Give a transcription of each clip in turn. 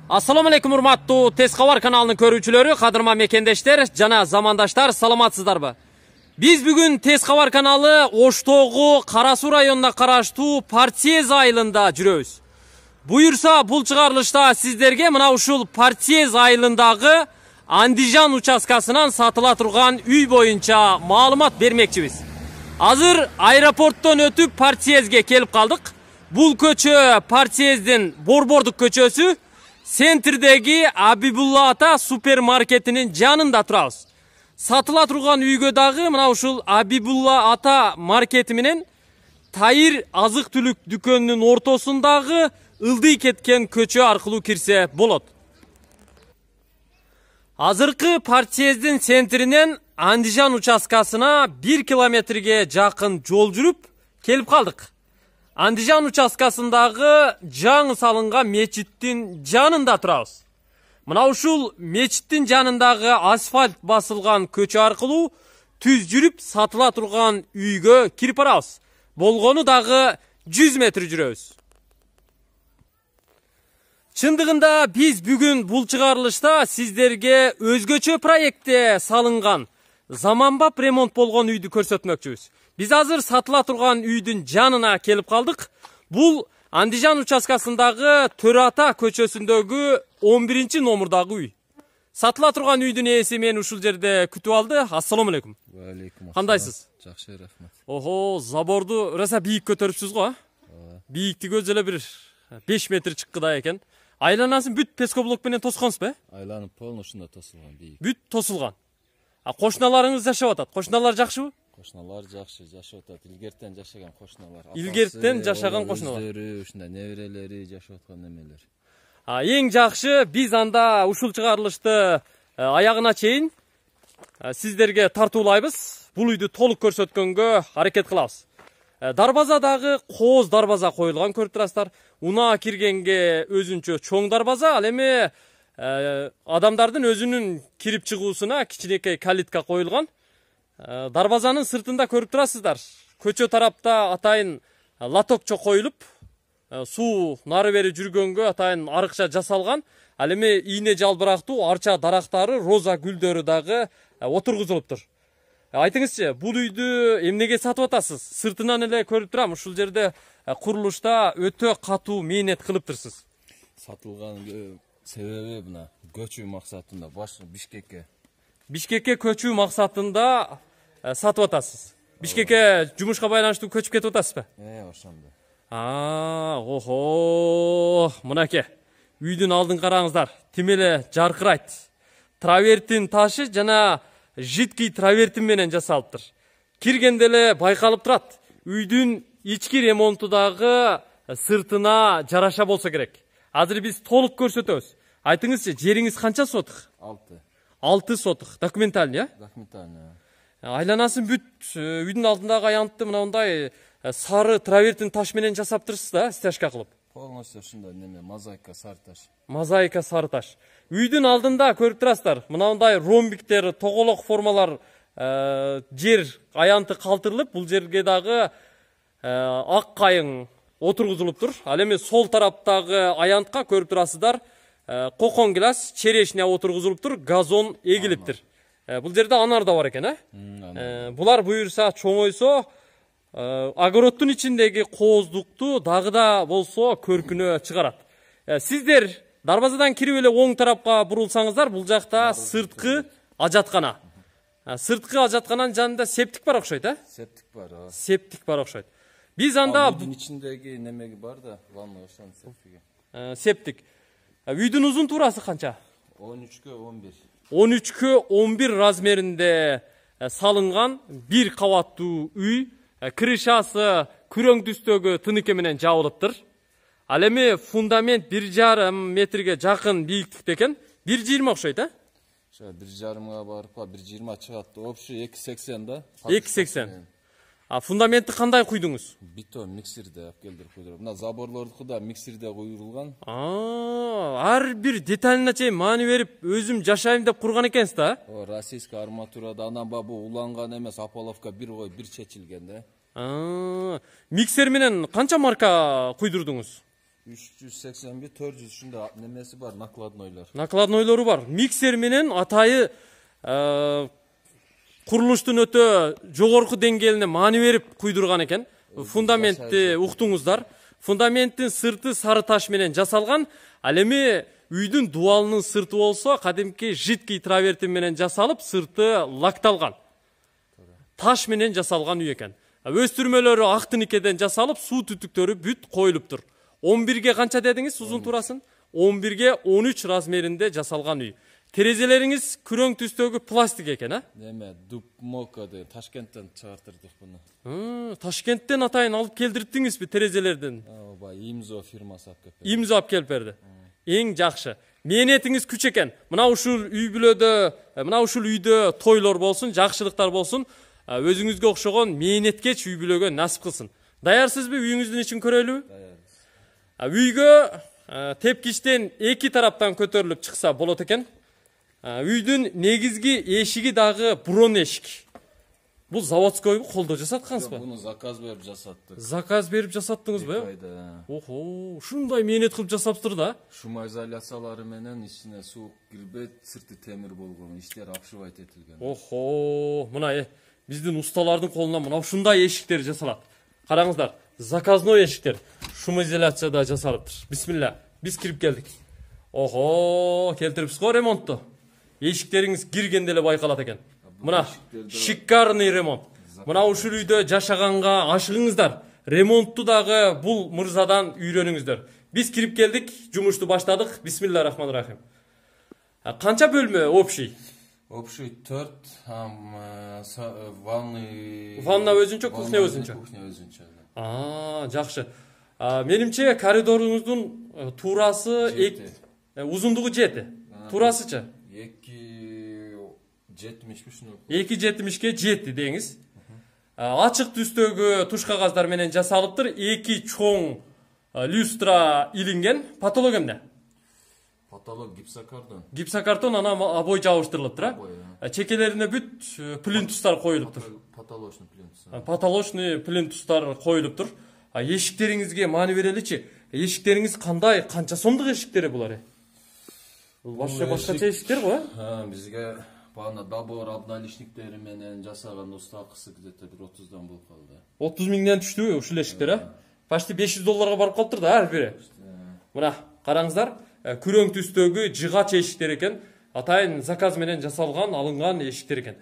Assalamu alaikum урматтуу Тез кабар каналынын көрүүчүлөрү, кадырма мекендештер жана замандаштар, саламатсыздарбы? Биз бүгүн Тез кабар каналы Оштогу Кара Суу районуна караштуу Партиез айылында жүрөбүз. Буюрса, бул чыгарылышта сиздерге мына ушул Партиез айылындагы Андижан участкасынан сатыла турган үй боюнча маалымат бермекчибиз. Азыр аэропорттон өтүп Партиезге келип калдык. Бул көчө Партиездин Борбордук көчөсү. Центрдеги Абибулла ата супермаркетинин жанында турабыз. Сатыла турган үйгө дагы мына ушул Абибулла ата маркети менен Тайыр азык түлүк дүкөнүнүн ортосундагы ылдый кеткен көчө аркылуу кирсе болот. Азыркы Партиездин центринен Андижан участкасына 1 километрге жакын жол жүрүп келип калдык. Андижан участкасындагы жаңы салынган мечиттин жанында турабыз. Мына ушул мечиттин жанындагы асфальт басылган көчө аркылуу түз жүрүп сатыла турган үйгө кирип барабыз. Болгону дагы 100 метр жүрөбүз. Чындыгында биз бүгүн бул чыгарылышта сиздерге өзгөчө проектте салынган заманбап ремонт болгон үйдү көрсөтмөкчүбүз. Биз азыр сатыла турган үйдүн жанына келип калдык. Бул Андижан участкасындагы Төрата көчөсүндөгү 11 номурдагы үй. Сатыла турган үйдүн ээси мени ушул жерде күтүп алды. Ассаламу алейкум. Ва алейкум. Кандайсыз? Жакшы, рахмат. Охо, заборду раса бийик көтөрүпсүз го? Бийиктиги өзү эле бир 5 метр чыккыдай экен. Айланасын бүт пескоблок менен тосконсузбу? Айланып полношунда тосулган бийик. Бүт тосулган. Кошуналарыңыз жашап атат. Кошуналар жакшыбы? Кошуналар жакшы жашап атат. Илгертен жашаган кошуналар. Илгертен жашаган кошуналар. Өздөрү ушундай неберелери жашап аткан немелер. Эң жакшы, биз анда ушул чыгарылышты аягына чейин сиздерге тартуулайбыз. Бул үйдү толук көрсөткөнгө аракет кылабыз. Дарбаза дагы кооз дарбаза коюлган, көрүп турасыздар. Унаа киргенге өзүнчө чоң дарбаза, ал эми адамдардын өзүнүн кирип чыгуусуна кичинекей калитка коюлган. Дарбазанын сыртында көрүп турасыздар. Көчө тарапта атайын лотокчо коюлуп, суу нары бери жүргөнгө атайын арыкча жасалган. Ал эми ийне жалбырактуу арча дарактары, роза гүлдөрү дагы отургузулуптур. Айтыңызчы, бул үйдү эмнеге сатып атасыз? Сыртынан эле көрүп турам, ушул жерде курулушта өтө катуу мээнет кылыптырсыз. Сатылган себеби мына көчүү максатында Бишкекке. Бишкекке көчүү максатында сатып атасыз. Бишкекке жумушка байланыштуу көчүп кетип атасызбы? Ошондо. Охо, мынакей. Үйдүн алдын караңыздар. Тим эле жаркырайт. Травертин ташы жана жидкий травертин менен жасалыптыр. Киргенде эле байкалып турат. Үйдүн ички ремонту дагы сыртына жараша болсо керек. Азыр биз толук көрсөтөбүз. Айтыңызчы, жериңиз канча сотук? 6 сотук. Документальный, э? Документальный. Айланасын бүт үйдүн алдындагы аянтты мындай сары травертин таш менен жасаптырсыз да, стяжка кылып. Полностью ушундай неме, мозаика сары таш. Мозаика сары таш. Үйдүн алдында көрүп турасыздар, мындай ромбиктер, тоголок формалар жер аянты калтырылып, бул жерге дагы ак кайың отургузулуптур. Ал эми сол тараптагы аянтка көрүп турасыздар, кокон гилас, черешня отургузулуптур, газон эгилиптир. Бул жерде анар да бар экен, э? Булар буюрса чоңойсо, огороддун ичиндеги кооздукту дагы да болсо көркүнө чыгарат. Сиздер дарбазадан кирип эле оң тарапка бурулсаңыздар, бул жакта сырткы ажаткана. Сырткы ажаткананын жанында септик бар окшойт, э? Септик бар, Септик бар окшойт. Биз анда үйдүн ичиндеги немеги бар да, ванна ошон септиги. Септик. Үйдүн узун туурасы канча? 13-кө 11. 13-кө 11 размеринде салынган бир кабаттуу үй. Крышасы күрөң түстөгү тыныке менен жабылыптыр. Ал эми фундамент 1,5 метрге жакын бийиктикте экен. 1,20 окшойт, э? 1,5-га барып, 1,20 чыгат. Общий 2,80 да. 2,80. Фундаментти кандай куйдуңуз? Бетон миксерде алып келдип куйдук. Мына заборлордуку да миксерде куйрулган. Ар бир деталына чейин маани берип, өзүм жашайм деп курган экенсиз да? Российский арматурада анан бабу уланган эмес, аполовка бир кой бир чечилген да. Миксер менен канча марка куйдурдуңуз? 381 400 ушунда немеси бар, накладнойлор. Накладнойлору бар. Миксер менен атайы курулуштун өтө жогорку деңгээлине маани берип куйдурган экен. Фундаментти уктуңуздар. Фундаменттин сырты сары таш менен жасалган. Ал эми үйдүн дубалынын сырты болсо кадимки жидкий травертин менен жасалып, сырты лакталган. Таш менен жасалган үй экен. Өстүрмөлөрү ак тиникеден жасалып, суу түтүктөрү бүт коюлуптур. 11ге канча дедиңиз узун турасын? 11ге 13 размеринде жасалган үй. Терезелериңиз күрөң түстөгү пластик экен, а? Неме, Дубмока деп Ташкенттен чыгартырдык буну. Ташкенттен атайын алып келдирдиңизби терезелерден? Ооба, Имзо фирмасы алып келип. Имзо алып келип берди. Эң жакшы. Мээнетиңиз күч экен. Мына ушул үйдө тойлор болсун, жакшылыктар болсун, өзүңүзгө окшогон мээнеткеч үй бүлөгө насип кылсын. Даярсызбы үйүңүздүн ичин көрөлүбү? Даярбыз. Үйгө тепкичтен эки тараптан көтөрүлүп чыкса болот экен. Үйдүн негизги эшиги дагы бурон эшик. Бул заводской колдо жасаткансызбы? Буну заказ берип жасаттык. Заказ берип жасаттыңызбы? Охо, ушундай мээнет кылып жасаптыр да. Шума изоляциялары менен ичине суук кирбейт, сырты темир болгон, иштер апшыбайт этилген. Охо, мына биздин усталардын колунан мына ушундай эшиктер жасалат. Караңыздар, заказной эшиктер шум изоляцияда жасалыптыр. Бисмилла, биз кирип келдик. Охо, келтирипсиз го ремонтту. Эшиктериңиз киргенде эле байкалат экен. Мына шикарный ремонт. Мына ушул үйдө жашаганга ашыгыңыздар. Ремонтту дагы бул мырзадан үйрөнүңүздөр. Биз кирип келдик, жумушту баштадык. Бисмиллахиррахманиррахим. Канча бөлмө общий? Общий 4, ванна өзүнчө, кухня өзүнчө. Кухня өзүнчө. Жакшы. Менимче коридоруңуздун туурасы узундугу 7. Туурасычы? 2,70ке жетти деңиз. Ачык түстөгү туш кагаздар менен жасалыптыр. 2 чоң люстра илинген. Потолок эмне? Потолок гипсокартон. Гипсокартон анан обой жабыштырылыптыр. Чекелерине бүт плинтустар коюлуптур. Потолочный плинтустар. Потолочный плинтустар коюлуптур. Эшиктериңизге маани береличи. Эшиктериңиз кандай, канча сомдук эшиктери булар? Башкача эшиктер го? Бизге бана добор обналичниктери менен жасаган устакысы где-то 30дан болуп калды. 30 миңден түштүбү ушул эшиктер, Почти $500 барып калыптыр да ар бири. Мына караңыздар, күрөң түстөгү жыгач эшиктер экен. Атайын заказ менен жасалган, алынган эшиктер экен.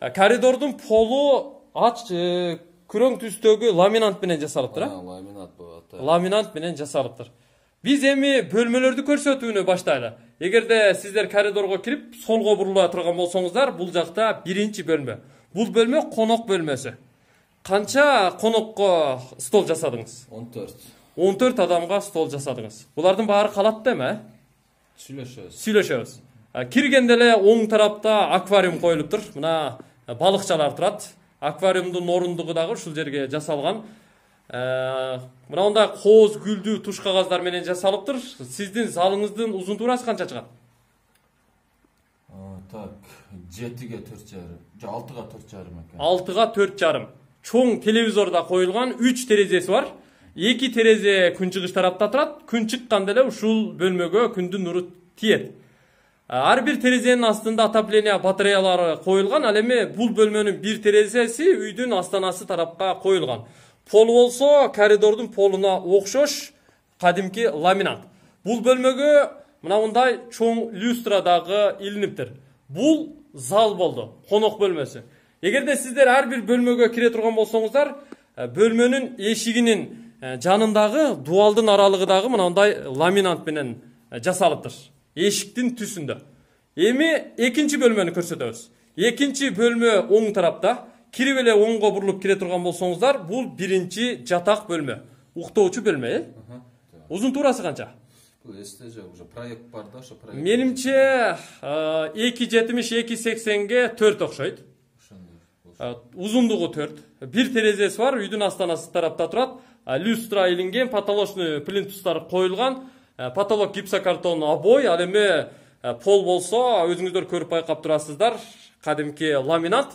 Коридордун полу күрөң түстөгү ламинант менен жасалыптыр, Ламинат болот. Ламинант менен жасалыптыр. Биз эми бөлмөлөрдү көрсөтүүнү баштайлы. Эгерде сиздер коридорго кирип, солго бурула турган болсоңуздар, бул жакта биринчи бөлмө. Бул бөлмө конок бөлмөсү. Канча конокко стол жасадыңыз? 14. 14 адамга стол жасадыңыз. Булардын баары калат да эме? Сүйлөшөбүз. Киргенде эле оң тарапта аквариум коюлуптур. Мына балыкчалар турат. Аквариумдун орундугу дагы ушул жерге жасалган. Мындай кооз гүлдүү туш кагаздар менен жасалыптыр. Сиздин залыңыздын узун туурасы канча чыгат? Так, 7ге 4,5, 6га 4,5 экен. 6га 4,5. Чоң телевизор да коюлган, 3 терезеси бар. 2 терезе күнчыгыш тарапта турат. Күн чыкканда эле ушул бөлмөгө күндүн нуру тиет. Ар бир терезенин астында отопление батареялары коюлган. Ал эми бул бөлмөнүн бир терезеси үйдүн астанасы тарапка коюлган. Пол болсо коридордун полуна окшош кадимки ламинат. Бул бөлмөгө мындай чоң люстра дагы илиниптир. Бул зал болду, конок бөлмөсү. Эгерде сиздер ар бир бөлмөгө кире турган болсоңуздар, бөлмөнүн эшигинин жанындагы дуалдын аралыгы дагы мындай ламинат менен жасалыптыр. Эшиктин түсүндө. Эми экинчи бөлмөнү көрсөтөбүз. Экинчи бөлмө оң тарапта. Кирип эле оңго бурулуп кире турган болсоңуздар, бул биринчи жатак бөлмө. Уктоочу бөлмө, Узун туурасы канча? Бул эсте жок, уже проект бар да, ошо проект. Менимче 2,70-2,80ге 4 окшойт. Узундугу 4. Бир терезеси бар, үйдүн астанасы тарапта турат. Люстра илинген, потолочный плинтустар коюлган. Потолок гипсокартон обой, ал эми пол болсо өзүңүздөр көрүп байкап турасыздар. Кадимки ламинат.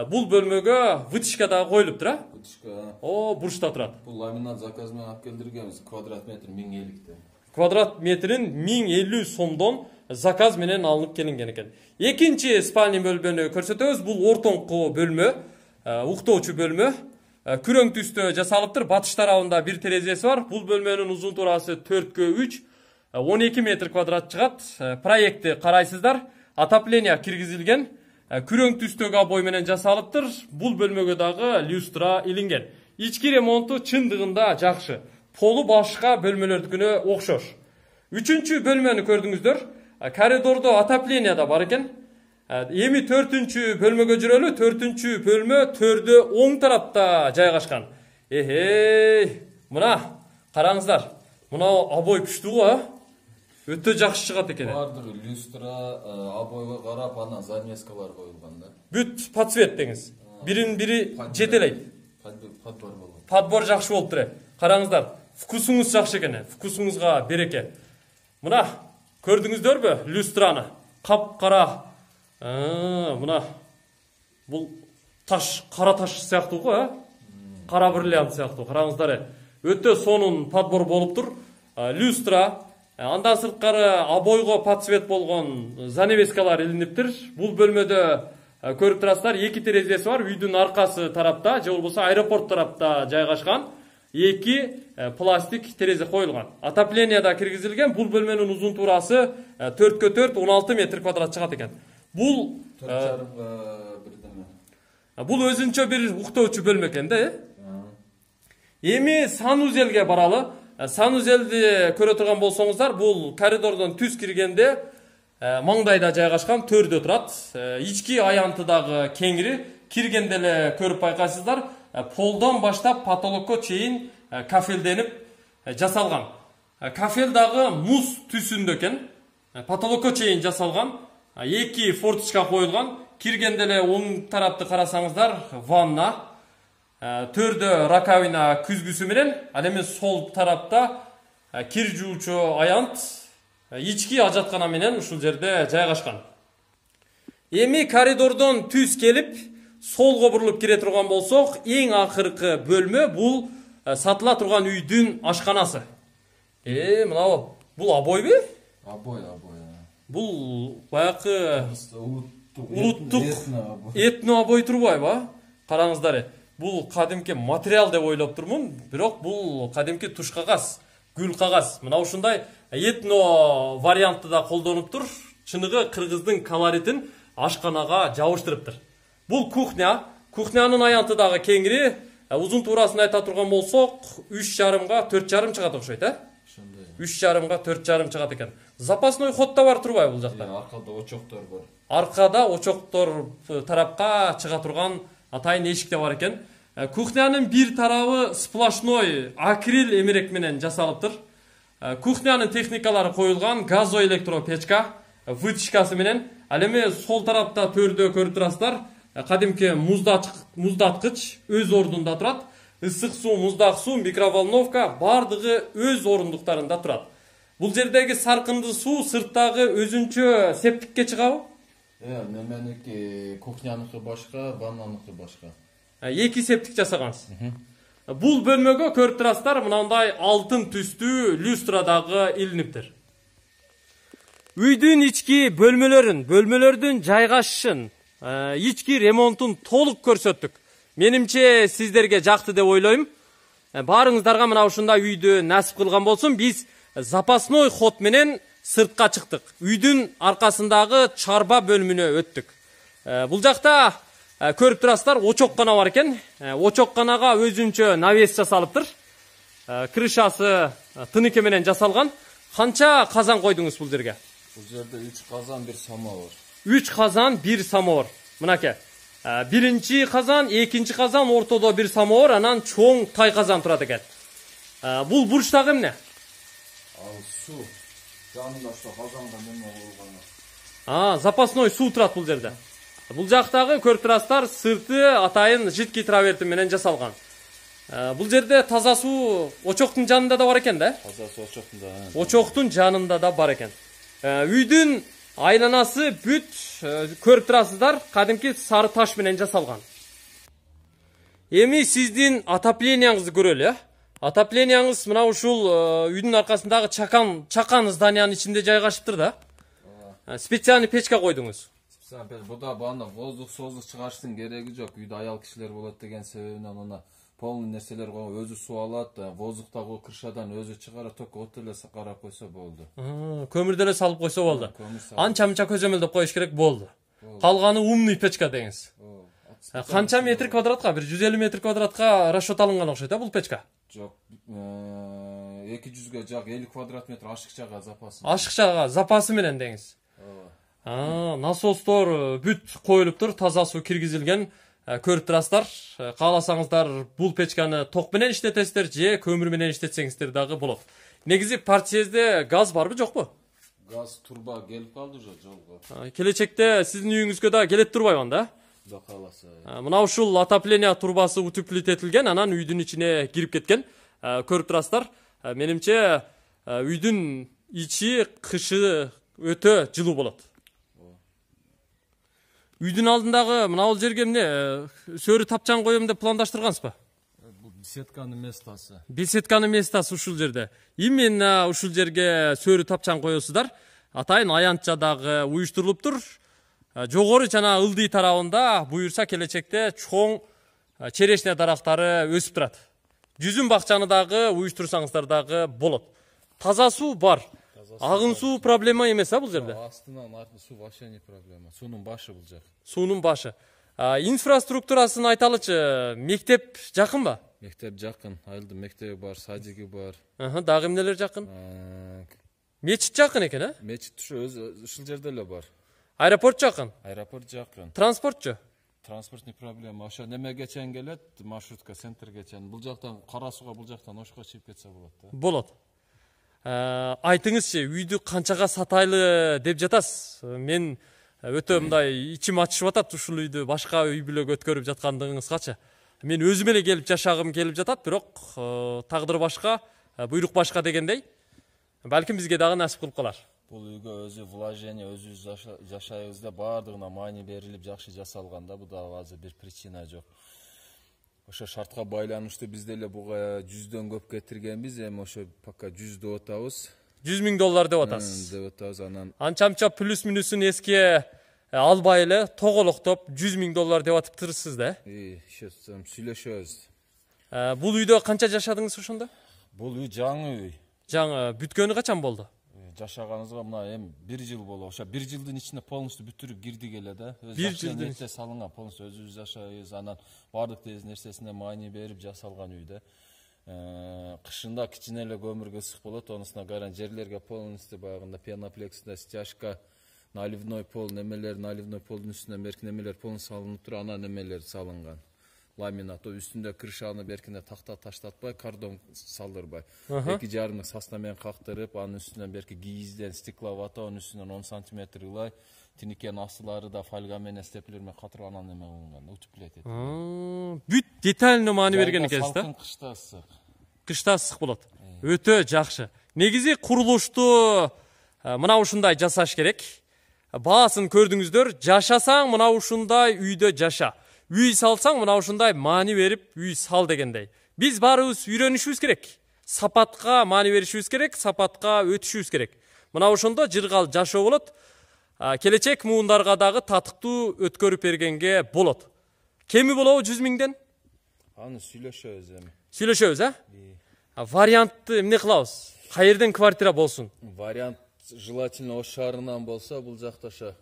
Бул бөлмөгө вытяжка дагы коюлуптур, а? Вытяжка. О, бурчта турат. Бул ламинат заказ менен алып келдиргенбиз. Квадрат метр 1050 Квадрат метрин 1050 сомдон заказ менен алынып келинген экен. Экинчи спальный бөлмөнү көрсөтөбүз. Бул ортоңку бөлмө, уктоочу бөлмө. Күрөң түстө жасалыптыр. Батыш тарабында бир терезеси бар. Бул бөлмөнүн узун турасы 4x3, 12 метр квадрат чыгат. Проектти карайсыздар. Отопление киргизилген. Күрөң түстөгү обой менен жасалыптыр. Бул бөлмөгө дагы люстра илинген. Ички ремонту чындыгында жакшы. Полу башка бөлмөлөрдүкүнө окшош. Үчүнчү бөлмөнү көрдүңүздөр. Коридордо отопление да бар экен. Эми 4-чү бөлмөгө жүрөлү. 4-чү бөлмө төрдө оң тарапта жайгашкан. Мына караңыздар. Мына обой күчтүү го, а? Өтө жакшы чыгат экен. Бардыр люстра, обойго карап, анан занескалар коюлган да. Бүт подсвет деңиз. Бирин-бири жетелейт. Подбор болгон. Подбор жакшы болуптур. Караңыздар, вкусуңуз жакшы экен. Вкусуңузга береке. Мына көрдүңүздөрбү люстраны? Кап-кара. Мына бул таш, кара таш сыяктуу го, а? Кара бриллиант сыяктуу. Караңыздар, өтө сонун подбор болуптур. Люстра, андан сырткары обойго подсвет болгон занавескалар илиниптир. Бул бөлмөдө көрүп турасыздар, 2 терезеси бар. Үйдүн аркасы тарапта, же болбосо аэропорт тарапта жайгашкан. 2 пластик терезе коюлган. Отопление да киргизилген. Бул бөлмөнүн узун турасы 4x4, 16 метр квадрат чыгат экен. Бул 4,5 бирдеме. Бул өзүнчө бир уктоочу бөлмө экен да, Эми санузелге баралы. Санузелди көрө турган болсоңуздар, бул коридордон түз киргенде маңдайда жайгашкан, төрдө турат. Ички аянты дагы кеңири. Киргенде эле көрүп байкайсыздар, полдон баштап потолокко чейин кафелденип жасалган. Кафел дагы муз түсүндө экен. Потолокко чейин жасалган. 2 форточка коюлган. Киргенде эле оң тарапты карасаңыздар, ванна. Төрдө раковина күзгүсү менен, ал эми сол тарапта кир жуучу аянт, ички ажаткана менен ушул жерде жайгашкан. Эми коридордон түз келип, солго бурулуп кире турган болсок, эң акыркы бөлмө бул сатыла турган үйдүн ашканасы. Мына бул обойбу? Обой. Бул баякы улуттук этно обой турбайбы? Караңыздар. Бул кадимки материал деп ойлоп турмун, бирок бул кадимки туш кагаз, гүл кагаз. Мына ушундай этно вариантты да колдонуптур. Чыныгы кыргыздын колоритин ашканага жабыштырыптыр. Бул кухня. Кухнянын аянты дагы кеңири. Узун туурасын айта турган болсок, 3,5 га 4,5 чыгат окшойт, Ошондой. 3,5 га 4,5 чыгат экен. Запасной ход да бар турбайбы бул жакта? Аркада очоктор бар. Аркада очоктор тарапка чыга турган атайын эшик да бар экен. Кухнянын бир тарабы сплошной акрил эмерек менен жасалыптыр. Кухнянын техникалары коюлган, газоэлектропечка, вытяжкасы менен. Ал эми сол тарапта төрдө көрүп турасыздар, кадимки муздаткыч өз ордунда турат. Ысык суу, муздак суу, микроволновка бардыгы өз орундуктарында турат. Бул жердеги саркынды суу сырттагы өзүнчө септикке чыгабы? Неменики кухняныкы башка, ваннаныкы башка. 2 септик жасагансыз. Бул бөлмөгө көрүп турасыздар, мынандай алтын түстүү люстра дагы илиниптир. Үйдүн ички бөлмөлөрдүн жайгашышын, ички ремонтун толук көрсөттүк. Менимче сиздерге жакты деп ойлойм. Баарыңыздарга мына ушундай үйдү насип кылган болсун. Биз запасной ход менен сыртка чыктык. Үйдүн аркасындагы чарба бөлмүнө өттүк. Бул жакта көрүп турасыздар, очоккана бар экен. Очокканага өзүнчө навес жасалыптыр. Крышасы тыныке менен жасалган. Канча казан койдуңуз бул жерге? Бул жерде 3 казан, 1 самовар. 3 казан, 1 самовар. Мынаке. Биринчи казан, экинчи казан, ортодо 1 самовар, анан чоң тай казан турат экен. Бул бурчтагы эмне? Ал суу. Жанында ошо казанга неме болгон. Запасной суу турат бул жерде. Бул жактагы көрүп турасыздар, сырты атайын жидкий траверти менен жасалган. Бул жерде таза суу очоктун жанында да бар экен да? Таза суу очоктун жанында да бар экен. Үйдүн Айланасы бүт көрүп турасыздар, кадимки сары таш менен жасалган. Эми сиздин отопленияңызды көрөлү, Отопленияңыз мына ушул үйдүн аркасындагы чакан зданиянын ичинде жайгашыптыр да. Специальный печка койдуңуз. Буда бана воздух создук чыгарыштын кереги жок. Үйдө аял кишилер болот деген себебинен она полный нерселер коюп өзү суу алат, воздуктагы кыршадан өзү чыгарат, только от эле карап койсо болду. Көмүрдө эле салып койсо болду. Анча-мынча көзөмөлдөп коюш керек болду. Калганы умный печка деңиз. Канча метр квадратка? 150 метр квадратка расчет алынган окшойт бул печка. Жок, 200га жак 50 квадрат метр ашыкчага запасы. Ашыкчага запасы менен деңиз. Насостор бүт коюлуптур, таза суу киргизилген. Көрүп турасыздар. Кааласаңыздар бул печканы ток менен иштетесиздер же көмүр менен иштетсеңиздер дагы болот. Негизи партиязде газ барбы жокпу? Газ турба келип калды жолго. Келечекте сиздин үйүңүзгө да келет турбайбы да? Да кааласа. Мына ушул отопление турбасы утеплителген, анан үйдүн ичине кирип кеткен. Көрүп турасыздар. Менимче үйдүн ичи кышы өтө жылуу болот. Үйдүн алдындагы мына бул жерге эмне сөрү тапчан коем деп пландаштыргансызбы? Бул беседканын местасы. Беседканын местасы ушул жерде. Именно ушул жерге сөрү тапчан коесуздар. Атайын аянтчадагы уюштурулуптур. Жогору жана ылдый тарабында буюрса келечекте чоң черешня дарактары өсүп турат. Жүзүм бакчаны дагы уюштурсаңыздар дагы болот. Таза суу бар. Агын суу проблема эмес бул жерде. Астынан аркы суу вообще не проблема. Суунун башы бул жак. Суунун башы. Инфраструктурасын айталычы, мектеп жакынбы? Мектеп жакын. Айылдын мектеби бар, садиги бар. Дагы эмнелер жакын? Мечит жакын экен, а? Мечит ушул жерде эле бар. Аэропорт жакын? Аэропорт жакын. Транспортчу? Транспорт не проблема. Ошо немеге чейин келет, маршрутка, центрге чейин. Бул жактан Кара Сууга, бул жактан Ошко чыгып кетсе болот да. Болот. Айтыңызчы, үйдү канчага сатайлы деп жатасыз? Мен өтө мындай ичим ачышып атат ушул үйдү башка үй бүлөгө өткөрүп жаткандыгыңызгачы. Мен өзүм эле келип жашагым келип жатат, бирок тагдыр башка, буйрук башка дегендей. Балким бизге дагы насип кылып калар. Бул үйгө өзү вложение, өзү жашайбызда баардыгына маани берилип жакшы жасалган да, бул дагы азыр бир причина жок. Ошо шартка байланыштуу биз деле буга 100дөн көп кетиргенбиз, эми ошо пока 100 деп атабыз. $100,000 деп атасыз. Деп атабыз, анан анча-мынча плюс минусун эске албай эле тоголоктоп $100,000 деп атыптырсыз да? Сүйлөшөбүз. Бул үйдө канча жашадыңыз ошондо? Бул үй жаңы үй. Жаңы, бүткөнү качан болду? Жашаганыбызга мына эми 1 жыл болду. Ошо 1 жылдын ичинде полностью бүтүрүп кирдик эле да. 1 жылдын ичинде салынган, полностью өзүбүз жашайбыз, анан бардык нерсесине маани берип жасалган үй да. Кышында кичине эле көмүргө ысык болот, онусуна каран жерлерге полностью баягында пеноплексте стяжка, наливной пол, наливной полдун үстүнөн берки немелер полностью салынып туруп, анан немелер салынган. Ламинат үстүндө крышаны беркине такта таштатпай, кардон салдырбай. 2,5 сасна менен кактырып, анын үстүнөн берки кийизден стекловато, анын үстүнөн 10 сантиметр ылай, тиникен астылары да фольга менен степлер менен катырып анан неме кылынган, утеплять этилген. Бүт детально маани берген экенсиз да? Кышта ысык. Кышта ысык болот. Өтө жакшы. Негизи курулушту мына ушундай жасаш керек. Баасын көрдүңүздөр, жашасаң мына ушундай үйдө жаша. Үй салсаң мына ушундай маани берип үй сал дегендей. Биз баарыбыз үйрөнүшүбүз керек. Сапатка маани беришибиз керек, сапатка өтүшүбүз керек. Мына ошондо жыргал жашоо болот. Келечек муундарга дагы татыктуу өткөрүп бергенге болот. Кеми болобу 100,000ден? Аны сүйлөшөбүз эми. Сүйлөшөбүз, Вариантты эмне кылабыз? Каерден квартира болсун? Вариант желательно Ош шаарынан болсо, бул жакта ошо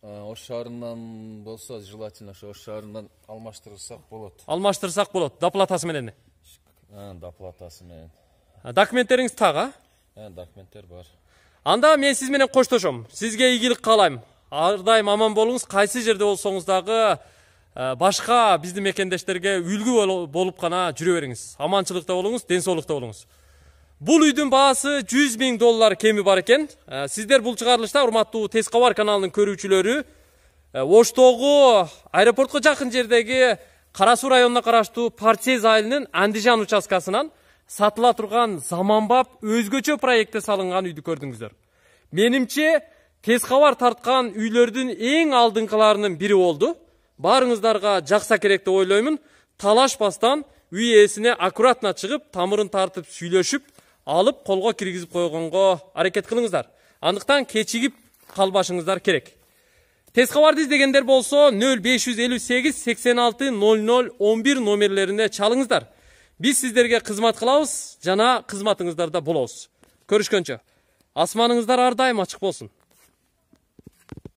Ош шаарынан болсо, желательно ошо Ош шаарынан алмаштырсак болот. Алмаштырсак болот, доплатасы менен. Доплатасы менен. Документтериңиз так, Документтер бар. Анда мен сиз менен коштошом. Сизге ийгилик каалайм. Ар дайым аман болуңуз, кайсы жерде болсоңуз дагы башка биздин мекендештерге үлгү болуп гана жүрө бериңиз. Аманчылыкта болуңуз, ден соолукта болуңуз. Бул үйдүн баасы $100,000 кеми бар экен. Сиздер бул чыгарылышта, урматтуу Тез кабар каналынын көрүүчүлөрү, Оштогу аэропортко жакын жердеги Кара Суу районуна караштуу Парсез айылынын Андижан участкасынан сатыла турган заманбап өзгөчө проектте салынган үйдү көрдүңүздөр. Менимче тез кабар тарткан үйлөрдүн эң алдыңкыларынын бири болду. Баарыңыздарга жакса керек деп ойлоймун. Талашпастан үй ээсине аккуратно чыгып, тамырын тартып сүйлөшүп, алып колго киргизип койгонго аракет кылыңыздар. Андыктан кечигип калбашыңыздар керек. Тез кабарды издегендер болсо 0558 86 00 11 номерлерине чалыңыздар. Биз сиздерге кызмат кылабыз жана кызматыңыздарда болобуз. Көрүшкөнчө. Асманыңыздар ар дайым ачык болсун.